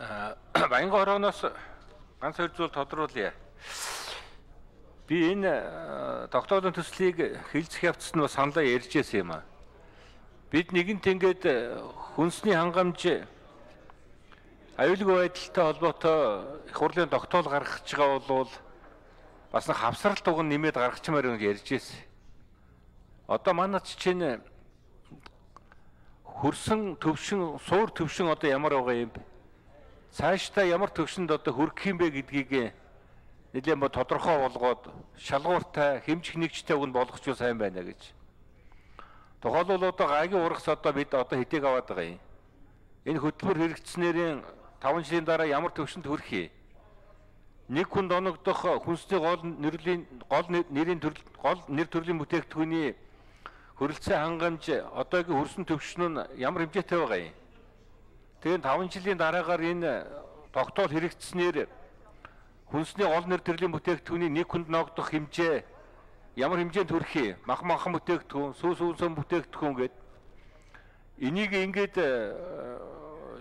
Баянган хорооноос ганц хоёр зүйл тодруулъя. Би энэ тогтоолын төслийг хилцэх явцад нь бас саналаа ярьж байсан юм аа. Бид нэгэнт ингээд хүнсний хангамж аюулгүй байдалтай холбоотой их хурлын тогтоол гаргаж байгаа бол бас нэг хавсралт уг нь нэмээд гаргачмаар гэж ярьж байсан. Одоо манайд чинь хөрсөн төвшин, суур төвшин одоо ямар байгаа юм бэ? Цаашдаа ямар төвшөнд одоо хүрэх юм бэ гэдгийг нэлээд бод тодорхой болгоод шалгууртай, хэмжих нэгжтэй үгэнд болгочихвол сайн байна гэж. Тухайлбал одоо гагийн урагс одоо бид одоо хэдийг аваад байгаа юм. Энэ хөтөлбөр хэрэгжснээрийн 5 жилийн дараа ямар төвшөнд хүрэх юм? Нэг хүнд оногдох хүнсний гол нэр төрлийн бүтээгдэхүүний хөрөлцөө хангамж одоогийн хөрсөн төвшин нь ямар хэмжээтэй байгаа юм? Тэгээд 5 жилийн дараагаар энэ тогтоол хэрэгжснээр хүнсний гол нэр төрлийн бүтээгдэхүүний нэг хүнд ногдох хэмжээ ямар хэмжээнд хүрэх юм? Махан бүтээгдэхүүн, сүүн бүтээгдэхүүн гэд энийг ингээд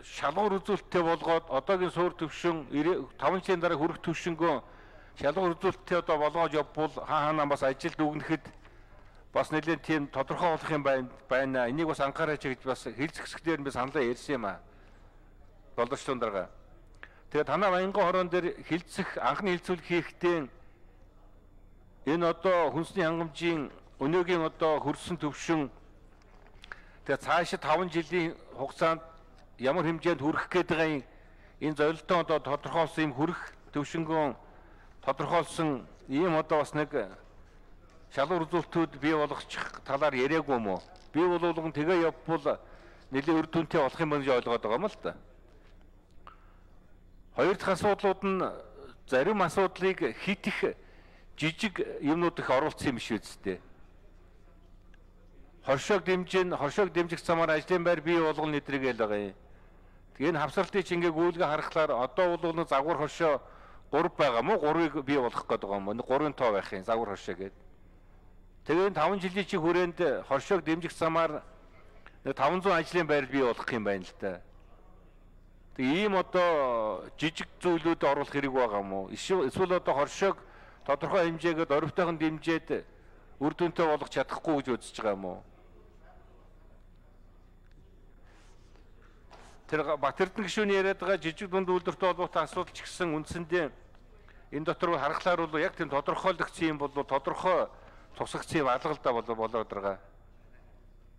шалгуур үзүүлэлттэй болгоод одоогийн суур төвшин 5 жилийн дараа хүрэх төвшингөө шалгуур үзүүлэлттэй одоо болгоод явбал хаана бас ажилд үгнэхэд бас нэлээд тийм тодорхой болох юм байна. Энийг бас анхаараач гэж бас хэлцэх хэсгээр би саналаа ярьсан юм аа. Боловч тундарга. Тэгээд танаа Баянган хорон дээр хилцэх анхны хилцүүлэг хийхдээ энэ одоо хүнсний хангамжийн өнөөгийн одоо хөрсөн төвшин тэгээд цаашид 5 жилийн хугацаанд ямар хэмжээнд хүрэх гээд байгаа юм энэ зорилттой одоо тодорхойлсон юм хүрэх төвшингөө тодорхойлсон ийм одоо бас нэг шалгуур үзүүлэлтүүд бий болгочих талаар яриаггүй юм уу? Би бол тэгээ явбал нэлээд үр дүнтэй болох юм байна гэж ойлгоод байгаа юм л да. Хоёр дахь асуудлууд нь зарим асуудлыг хит их жижиг юмнууд их оруулсан юм биш үсттэй. Хоршоог дэмжих замаар ажлын байр бий болгоно нэдрэг л байгаа юм. Тэгээ энэ хавсралтыг ингээ гүйлгээ харахаар одоо бол нэг загвар хоршоо 3 байгаа мó 3-ыг бий болгох гээд байгаа юм. 3-ын тоо байх юм загвар хоршоо гэдэг. Тэгээд 5 жилийн чи хүрээнд хоршоог дэмжих замаар 500 ажлын байр бий болгох юм байна л да. Тэгээ ийм одоо жижиг зүйлүүд оруулах хэрэг байгаа юм уу? Эсвэл одоо хоршоог тодорхой хэмжээгээд оривтойхон дэмжээд үр дүнтэй болгох чадахгүй гэж үзэж байгаа юм уу? Тэр Батэрдэн гишүүний яриад байгаа жижиг дунд үйлдвэртэй холбоотой асуудал ч гэсэн үндсэндээ энэ дотор харахаар бол яг тийм тодорхойлогдсон юм бол тодорхой тусагдсан юм алгалдаа болоод байгаа.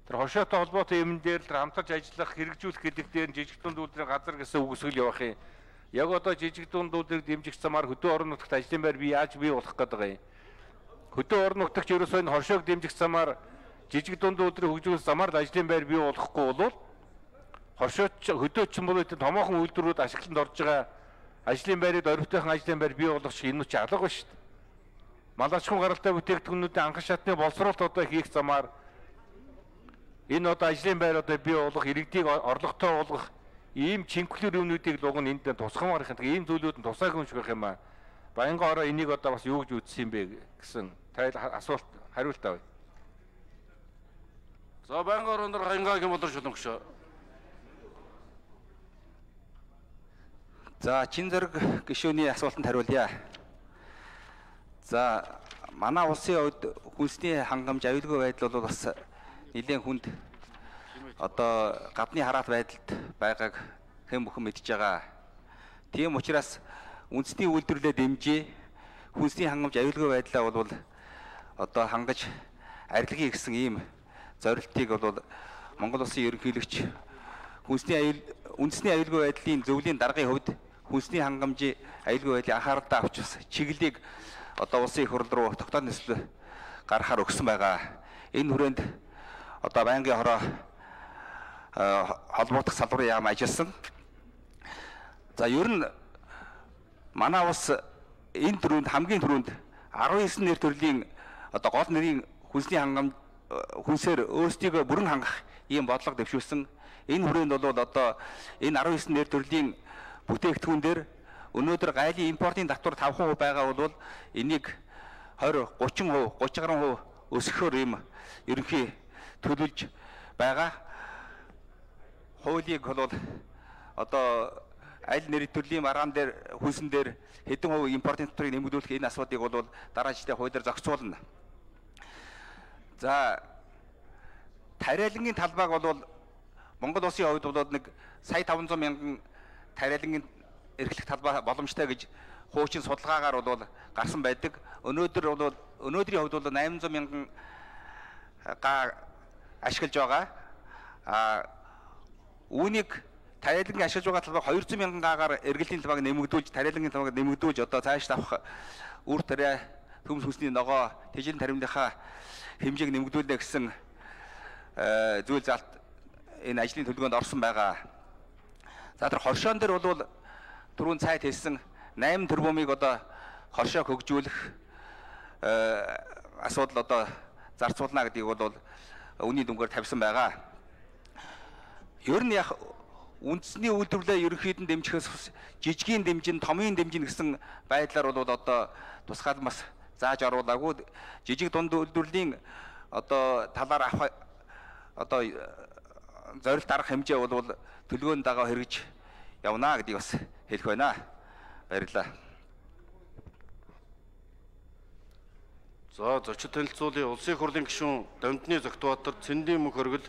Тэр хоршоотой холбоотой юм дээр л хамтарч ажиллах, хэрэгжүүлэх гэдэг дээр жижиг дунд үйлдвэрийн газар гэсэн үгсгэл явах юм. Яг одоо жижиг дунд үйлдвэрийг дэмжих замаар хөдөө орон нутагт ажлын байр яаж бий болох гээд байгаа юм. Хөдөө орон нутагт ерөөсөө энэ хоршоог дэмжих замаар жижиг дунд үйлдвэрийг хөгжүүлэх замаар л ажлын байр бий болохгүй бол хоршооч хөдөөч юм бол томоохон үйлдвэрүүд ашиглалтанд орж байгаа ажлын байрыг оривтойхон ажлын байр бий болгох шиг энэ ч алга ба шүү дээ. Малчхан гаралтай бүтээгдэхүүнүүдийн анхан шатны боловсролт одоо хийх замаар энэ одоо ажлын байр одоо бий болгох, иргэдийг орлоготой болгох ийм чинхлэр юмнуудыг л уг нь энд тусгамаар их ийм зүйлүүд нь тусаагүй юм шиг байх юм аа. Баянган хороо энийг одоо бас юу гэж үзсэн юм бэ гэсэн асуулт хариулт авъя. За Баянган хорон дээр Хаянгагийн боловч шулмагш. За чин зэрэг гишүүний асуултанд хариулъя. За манай улсын хувьд хүнсний хангамж аюулгүй байдал бол бас нэлээд хүнд одоо гадны хараат байдалд байгааг хэн бүхэн мэдж байгаа. Тийм учраас үндэсний үйлдвэрлэлээ дэмжиж хүнсний хангамж аюулгүй байдлаа бол одоо хангаж арилгахыг гэсэн ийм зорилтыг бол Монгол улсын ерөнхийлөгч үндэсний аюулгүй байдлын зөвлөлийн даргын хувьд хүнсний хангамжийн аюулгүй байдлыг анхааралтай авч чиглэлийг одоо улсын их хурл руу тогтоох нислэг гаргахаар өгсөн байгаа. Энэ хүрээнд одоо Баянган хороо холбоотох салбарын яам ажилласан. За ер нь манай улс энэ төрөнд хамгийн түрүүнд 19 нэр төрлийн одоо гол нэрийн хүнсний хангамж хүнсээр өөрсдийгөө бүрэн хангах ийм бодлого дэвшүүлсэн. Энэ хүрээнд бол одоо энэ 19 нэр төрлийн бүтээгдэхүүн дээр өнөөдөр гайлын импортын татвар 5% байгаа бол энийг 20, 30%, 30% өсгөхөөр ийм ерөнхий төлөвлөж байгаа. Хуулийг бол одоо аль нэр төрлийн маргаан дээр хүйсэн дээр хэдэн хувь импортын татварыг нэмэгдүүлэх энэ асуудыг бол дараа жилдээ хуулиар зохицуулна. За тариалангийн талбайг бол Монгол улсын хувьд бол нэг сая 500 мянган тариалангийн эрхлэх талбай боломжтой гэж хуучин судалгаагаар бол гарсан байдаг. Өнөөдрийн хувьд бол 800 мянган га ашиглаж байгаа. Үүнийг тариалангийн ашиглаж байгаа талбайг 200 мянган гагаар эргэлтийн талбайг нэмэгдүүлж, тариалангийн талбайг нэмэгдүүлж одоо цааш авах үр тариа төмс хүнсний ногоо тэжээлийн таримныхаа хэмжээг нэмэгдүүлнэ гэсэн зүйл залт энэ ажлын төлөвлөгөөнд орсон байгаа. За тэр хоршоон дээр бол түрүүн цайд хэлсэн 8 тэрбумыг одоо хоршоо хөгжүүлэх асуудал одоо зарцуулна гэдгийг бол үнийн дүнгээр тавьсан байгаа. Ер нь яг үндэсний үйлдвэрлэлээ ерөнхийдөө дэмжихээс жижигийн дэмжин, томын дэмжин гэсэн байдлаар бол одоо тусгаалмас зааж оруулаагүй. Жижиг дунд үйлдвэрлэлийн одоо талаар авах одоо зорилт арга хэмжээ бол төлөвлөгөөнд дагаа хэрэгж явна гэдгийг бас хэлэх байна. Баярлалаа. За зочид танилцуулын улсын их хурлын гишүүн Дамжны Зогтбаатар, Цэндийн мөнх хөргөл,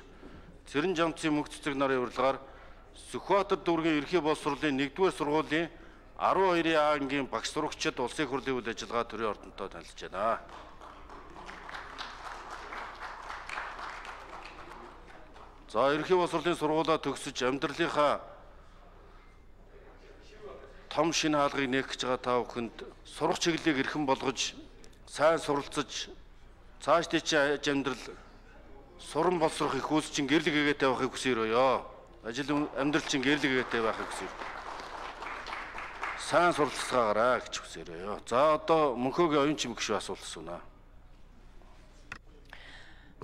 Цэрэн Жамцын мөнх цэцэг нарын урилгаар Сүхбаатар дүүргийн ерхий боловсруулалтын 1-р сургуулийн 12А ангийн багш сурагчид улсын их хурлын үйл ажиллагаа төрийн ордонтой танилцж байна. За ерхий боловсруулалтын сургуулаа төгсөж амьдралынхаа том шинэ хаалгыг нээх гэж байгаа та бүхэнд сурах чиглэлийг эрхэм болгож сайн суралцаж цааш тийчээ амьдрал суран боловсрох их үйлс чинь гэрэл гэгээтэй байхыг хүсээрөөё. Ажил амьдрал чинь гэрэл гэгээтэй байхыг хүсэв. Сайн суралцгаагаараа гэж хүсээрөөё. За одоо мөнхөөгийн оюун чимэг шүү асуулт асууна.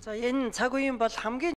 За энэ цаг үеийн бол хамгийн